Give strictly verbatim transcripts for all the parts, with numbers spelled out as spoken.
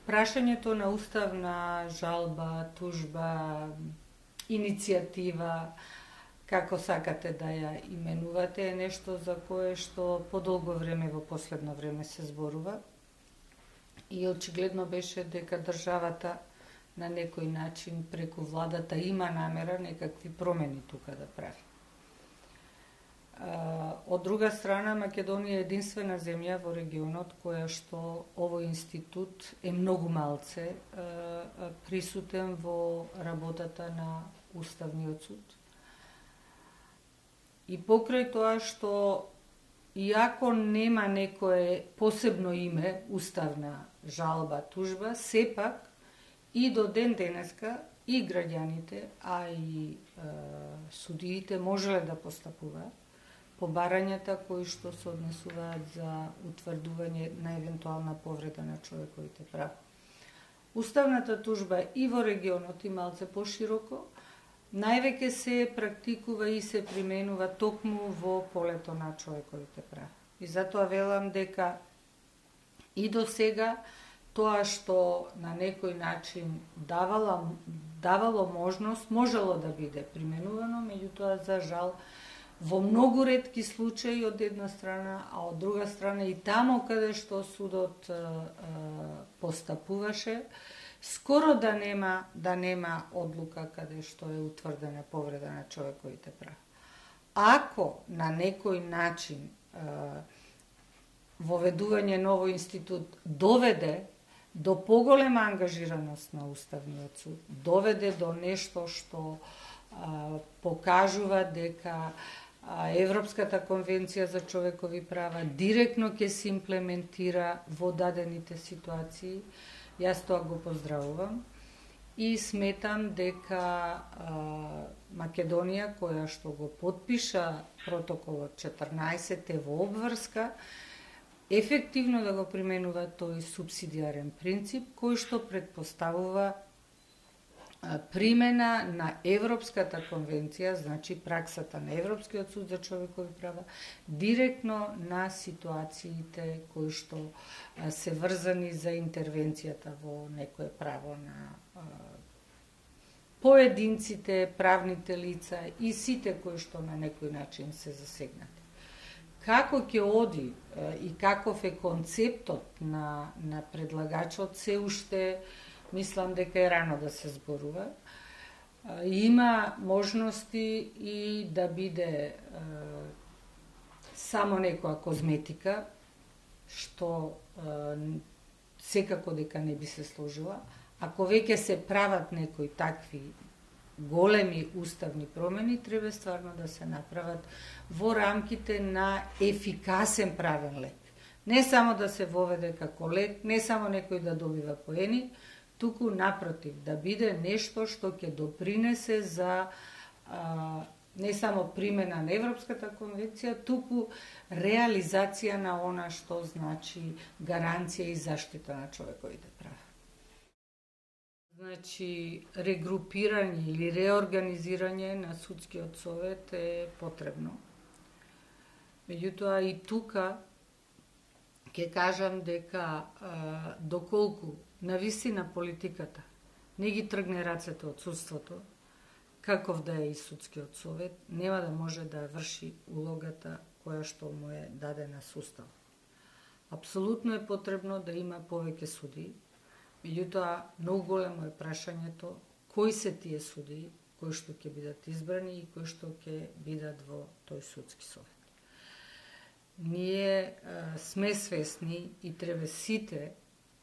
прашањето на уставна жалба, тужба, иницијатива, како сакате да ја именувате, е нешто за кое што подолго време во последно време се зборува. И очигледно беше дека државата на некој начин преку владата има намера некакви промени тука да прави. Од друга страна, Македонија е единствена земја во регионот која што овој институт е многу малце присутен во работата на Уставниот суд. И покрај тоа што иако нема некое посебно име, уставна жалба, тужба, сепак и до ден денеска и граѓаните, а и е, судиите можеле да постапуваат по барањата кои што се однесуваат за утврдување на евентуална повреда на човековите права. Уставната тужба и во регионот и малце пошироко највеќе се практикува и се применува токму во полето на човековите права. И затоа велам дека и до сега тоа што на некој начин давала, давало можност, можело да биде применувано, меѓутоа за жал во многу ретки случаи од една страна, а од друга страна и тамо каде што судот е, е, постапуваше, скоро да нема да нема одлука каде што е утврдена повреда на човековите права. Ако на некој начин е, воведување на овој институт доведе до поголема ангажираност на Уставниот суд, доведе до нешто што а, покажува дека а, Европската конвенција за човекови права директно ќе се имплементира во дадените ситуации, јас тоа го поздравувам и сметам дека а, Македонија, која што го подпиша протоколот четрнаесет, е во обврска ефективно да го применува тој субсидиарен принцип, кој што предпоставува примена на Европската конвенција, значи праксата на Европскиот суд за човекови права, директно на ситуациите кои што се врзани за интервенцијата во некое право на поединците, правните лица и сите кои што на некој начин се засегнати. Како ќе оди и каков е концептот на, на предлагачот, се уште мислам дека е рано да се зборува. Има можности и да биде е, само некоја козметика, што е, секако дека не би се сложила. Ако веќе се прават некои такви големи уставни промени, треба стварно да се направат во рамките на ефикасен правен лек. Не само да се воведе како лек, не само некој да добива поени, туку напротив, да биде нешто што ќе допринесе за а, не само примена на Европската конвенција, туку реализација на она што значи гаранција и заштита на човековите права. Значи, регрупирање или реорганизирање на судскиот совет е потребно. Меѓутоа и тука ќе кажам дека а, доколку навистина политиката не ги тргне рацете од судството, каков да е и судскиот совет, нема да може да врши улогата која што му е дадена с устав. Апсолутно е потребно да има повеќе судии, меѓутоа многу големо е прашањето кои се тие судии кои што ќе бидат избрани и кои што ќе бидат во тој судски совет. Ние а, сме свесни и треба сите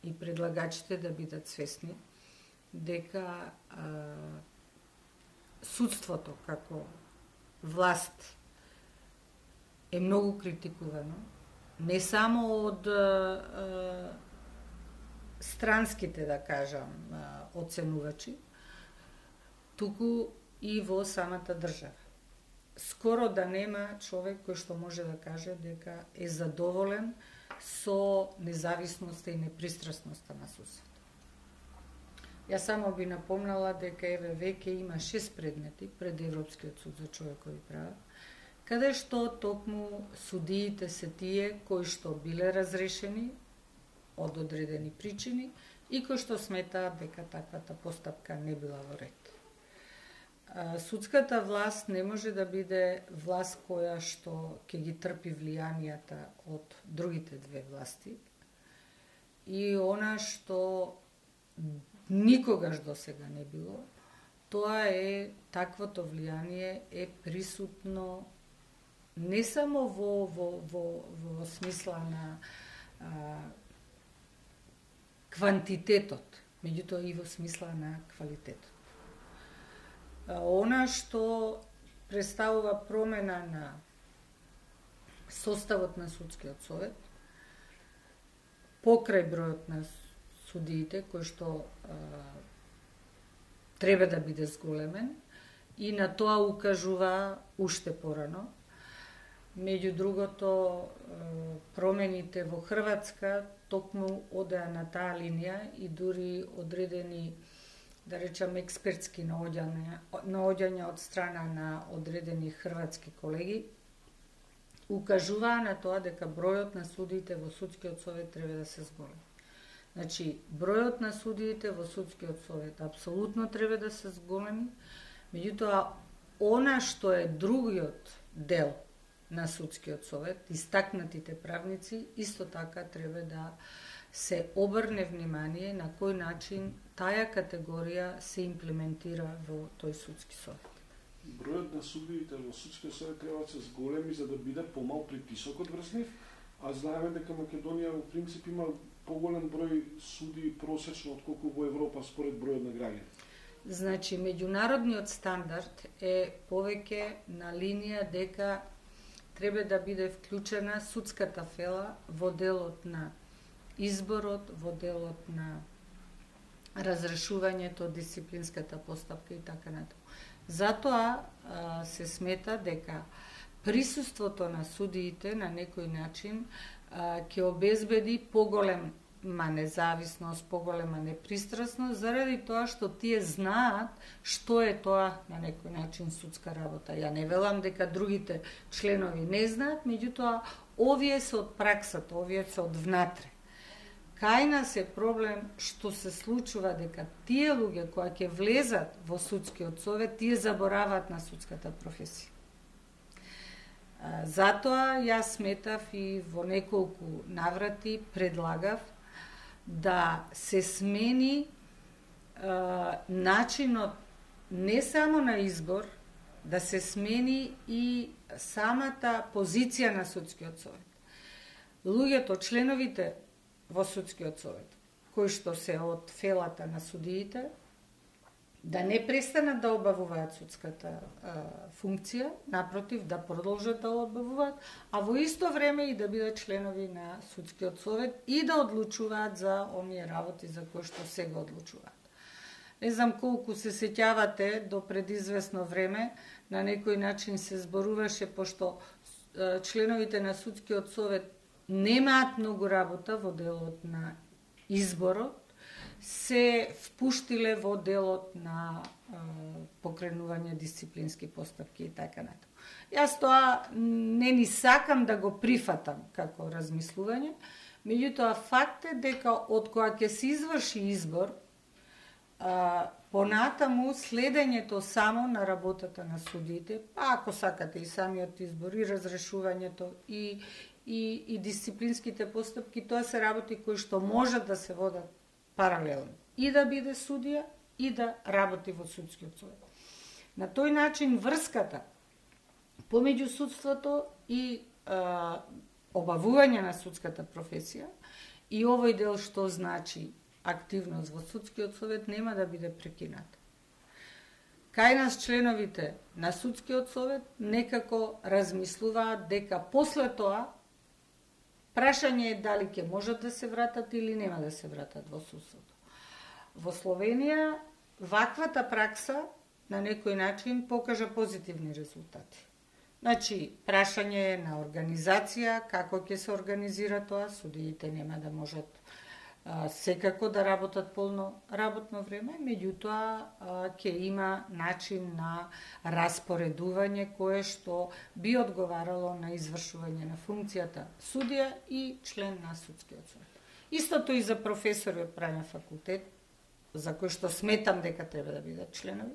и предлагачите да бидат свесни дека а, судството како власт е многу критикувано, не само од а, странските, да кажам, оценувачи, туку и во самата држава. Скоро да нема човек кој што може да каже дека е задоволен со независноста и непристрасноста на судството. Јас само би напомнала дека еве веќе има шест предмети пред Европскиот суд за човекови права, каде што токму судиите се тие кои што биле разрешени од одредени причини и кои што сметаат дека таквата постапка не била во ред. Судската власт не може да биде власт која што ќе ги трпи влијанијата од другите две власти, и она што никогаш досега не било, тоа е таквото влијание е присутно не само во, во, во, во смисла на а, квантитетот, меѓутоа и во смисла на квалитетот. А, она што представува промена на составот на судскиот совет, покрај бројот на судиите, кој што а, треба да биде зголемен, и на тоа укажува уште порано. Меѓу другото, промените во Хрватска токму одеа на таа линија и дури одредени, да речам, експертски наоѓања, наоѓања од страна на одредени хрватски колеги укажуваа на тоа дека бројот на судиите во судскиот совет треба да се зголеми. Значи, бројот на судиите во судскиот совет апсолутно треба да се зголеми, меѓутоа, она што е другиот дел на судскиот совет, истакнатите правници, исто така треба да се обрне внимание на кој начин таа категорија се имплементира во тој судски совет. Бројот на судиите во судскиот совет треба да се зголеми за да биде помал притисокот врз нив, а знаеме дека Македонија во принцип има поголем број суди просечно отколку во Европа според бројот на граѓани. Значи, меѓународниот стандард е повеќе на линија дека треба да биде вклучена судската фела во делот на изборот, во делот на разрешувањето, дисциплинската постапка и така натаму. Затоа а, се смета дека присуството на судиите на некој начин а, ќе обезбеди поголема независност, поголема непристрасност, заради тоа што тие знаат што е тоа на некој начин судска работа. Ја не велам дека другите членови не знаат, меѓутоа овие се од праксата, овие се од внатре. Кај нас е проблем што се случува дека тие луѓе кои ќе влезат во судскиот совет, тие забораваат на судската професија. Затоа јас сметав и во неколку наврати предлагав да се смени е, начинот не само на избор, да се смени и самата позиција на судскиот совет. Луѓето, членовите во судскиот совет, кои што се од фелата на судиите, да не престанат да обавуваат судската а, функција, напротив, да продолжат да обавуваат, а во исто време и да бидат членови на судскиот совет и да одлучуваат за оние работи за кои што сега одлучуваат. Не знам колку се сеќавате, до предизвестно време на некој начин се зборуваше, пошто а, членовите на судскиот совет немаат многу работа во делот на изборот, се впуштиле во делот на е, покренување дисциплински постапки и така натаму. Јас тоа не ни сакам да го прифатам како размислување, меѓутоа факт е дека од која ќе се изврши избор, а, понатаму следењето само на работата на судиите, па ако сакате и самиот избор, и разрешувањето, и, и, и дисциплинските постапки, тоа се работи кои што можат да се водат паралелно. И да биде судија, и да работи во судскиот совет. На тој начин врската помеѓу судството и а, обавување на судската професија и овој дел што значи активност во судскиот совет нема да биде прекината. Кај нас членовите на судскиот совет некако размислуваат дека после тоа прашање е дали ќе можат да се вратат или нема да се вратат во судството. Во Словенија ваквата пракса на некој начин покажа позитивни резултати. Значи, прашање е на организација, како ќе се организира тоа, судиите нема да можат а, секако да работат полно работно време, меѓутоа ќе има начин на распоредување кое што би одговарало на извршување на функцијата судија и член на судскиот совет. Истото и за професори од правен факултет, за кои што сметам дека треба да бидат членови.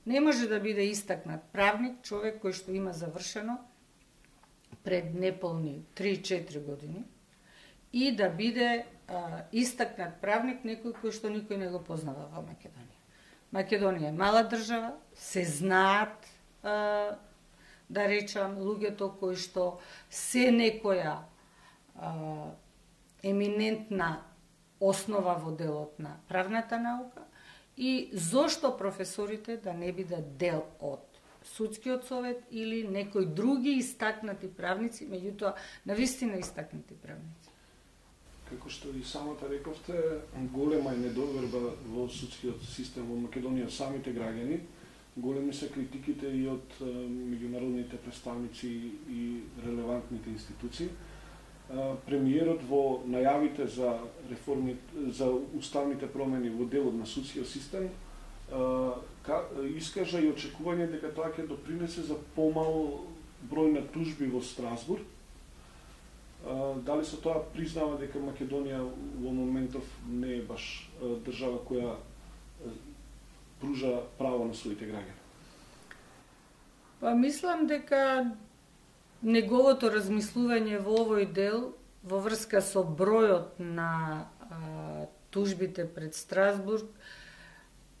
Не може да биде истакнат правник, човек кој што има завршено пред неполни три-четири години и да биде а, истакнат правник некој кој што никој не го познава во Македонија. Македонија е мала држава, се знаат, а, да речам, луѓето кои што се некоја а, еминентна основа во делот на правната наука и зошто професорите да не бидат дел од судскиот совет или некои други истакнати правници, меѓутоа навистина истакнати правници. Како што и самата рековте, голема е недоверба во судскиот систем во Македонија, самите граѓани, големи се критиките и од меѓународните представници и релевантните институции. Премиерот во најавите за реформи, за уставните промени во делот на судскиот систем искажа и очекување дека тоа ќе допринесе за помал број на тужби во Страсбург. Дали со тоа признава дека Македонија во моментов не е баш држава која пружа право на своите граѓани? Па мислам дека неговото размислување во овој дел во врска со бројот на а, тужбите пред Страсбург,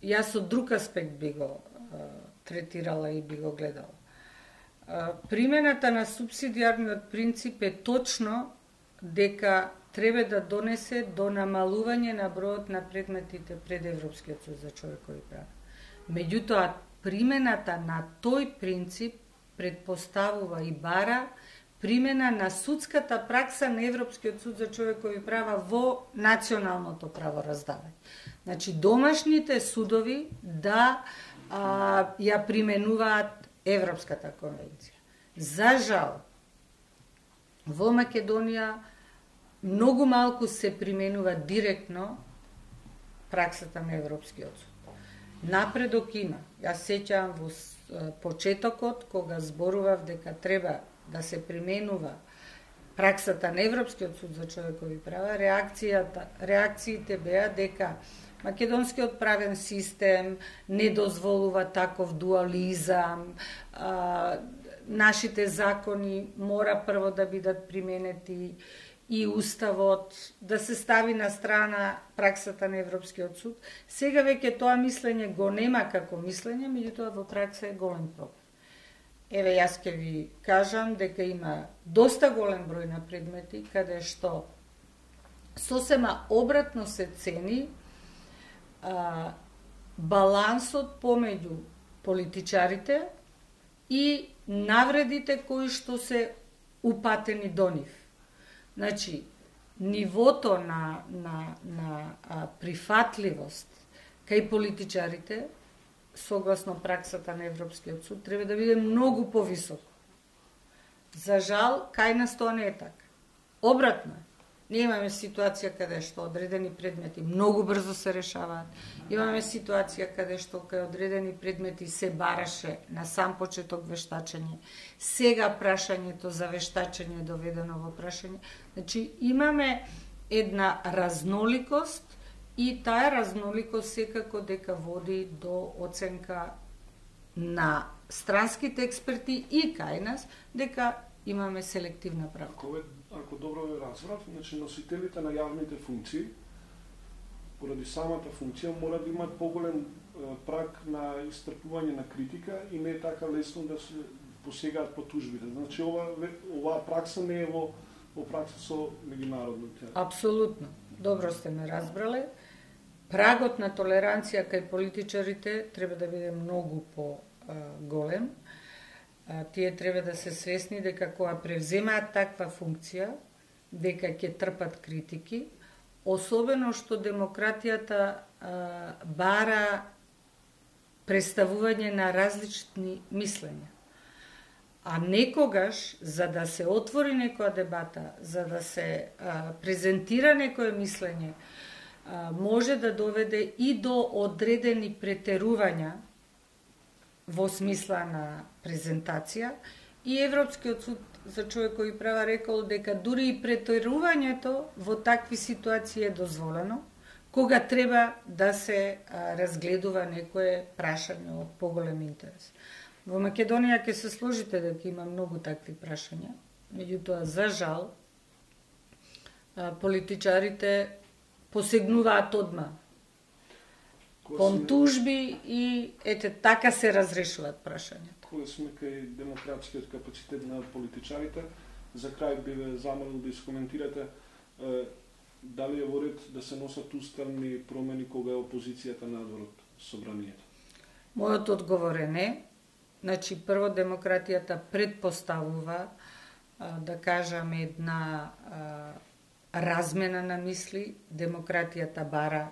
јас од друг аспект би го а, третирала и би го гледала. А, примената на субсидиарниот принцип е точно дека треба да донесе до намалување на бројот на предметите пред Европскиот суд за човекови права. Меѓутоа, примената на тој принцип предпоставува и бара примена на судската пракса на Европскиот суд за човекови права во националното правораздавање. Значи, домашните судови да а, ја применуваат Европската конвенција. За жал, во Македонија многу малку се применува директно праксата на Европскиот суд. Напредок има. Јас сеќавам во почетокот, кога зборував дека треба да се применува праксата на Европскиот суд за човекови права, реакцијата, реакциите беа дека македонскиот правен систем не дозволува таков дуализам, а, нашите закони мора прво да бидат применети и уставот, да се стави на страна праксата на Европскиот суд. Сега веќе тоа мислење го нема како мислење, меѓутоа во пракса е голем проблем. Еве, јас ќе ви кажам дека има доста голем број на предмети каде што сосема обратно се цени а, балансот помеѓу политичарите и навредите кои што се упатени до нив. Значи, нивото на, на, на а, прифатливост кај политичарите, согласно праксата на Европскиот суд, треба да биде многу повисоко. За жал, кај нас тоа не е така. Обратно е. Ние имаме ситуација каде што одредени предмети многу брзо се решаваат. Имаме ситуација каде што кај одредени предмети се бараше на сам почеток вештачење. Сега прашањето за вештачење е доведено во прашање. Значи, имаме една разноликост и таа разноликост секако дека води до оценка на странските експерти и кај нас дека имаме селективна практика. Ако добро ве разбрав, значи носителите на јавните функции, поради самата функција, мора да имаат поголем праг на истрпување на критика и не е така лесно да се посегаат по тужбите. Значи, ова, оваа пракса не е во, во пракса со меѓународните. Апсолутно. Добро сте ме разбрале. Прагот на толеранција кај политичарите треба да биде многу по-голем. Тие треба да се свесни дека кога превземаат таква функција, дека ќе трпат критики, особено што демократијата а, бара представување на различни мислења. А некогаш, за да се отвори некоја дебата, за да се а, презентира некое мислење, а, може да доведе и до одредени претерувања во смисла на презентација и Европскиот суд за човекови права рекол дека дури и претерувањето во такви ситуации е дозволено, кога треба да се а, разгледува некое прашање од поголем интерес. Во Македонија ќе се сложите дека има многу такви прашања, меѓутоа за жал а, политичарите посегнуваат одма кон тужби и ете така се разрешуваат прашањата. Кога сме кај демократскиот капацитет на политичарите, за крај би ве замолил да искоментирате е, дали е во ред да се носат уставни промени кога е опозицијата надвор од собранието? Мојот одговор е не. Значи, прво демократијата предпоставува, а, да кажам, една а, размена на мисли. Демократијата бара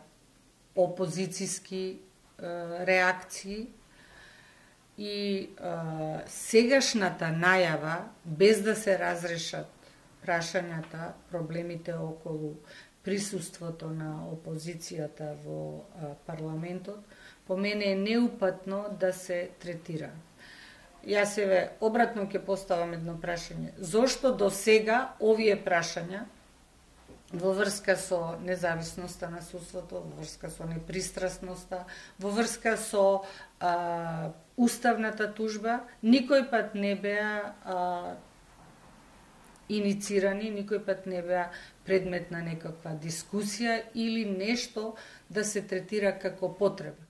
опозицијски а, реакции и а, сегашната најава, без да се разрешат прашањата, проблемите околу присуството на опозицијата во а, парламентот, по мене е неупатно да се третира. Јас еве обратно ќе поставам едно прашање. Зошто до сега овие прашања во врска со независноста на судството, во врска со непристрасноста, во врска со а, уставната тужба, никој пат не беа а, иницирани, никој пат не беа предмет на некаква дискусија или нешто да се третира како потреба.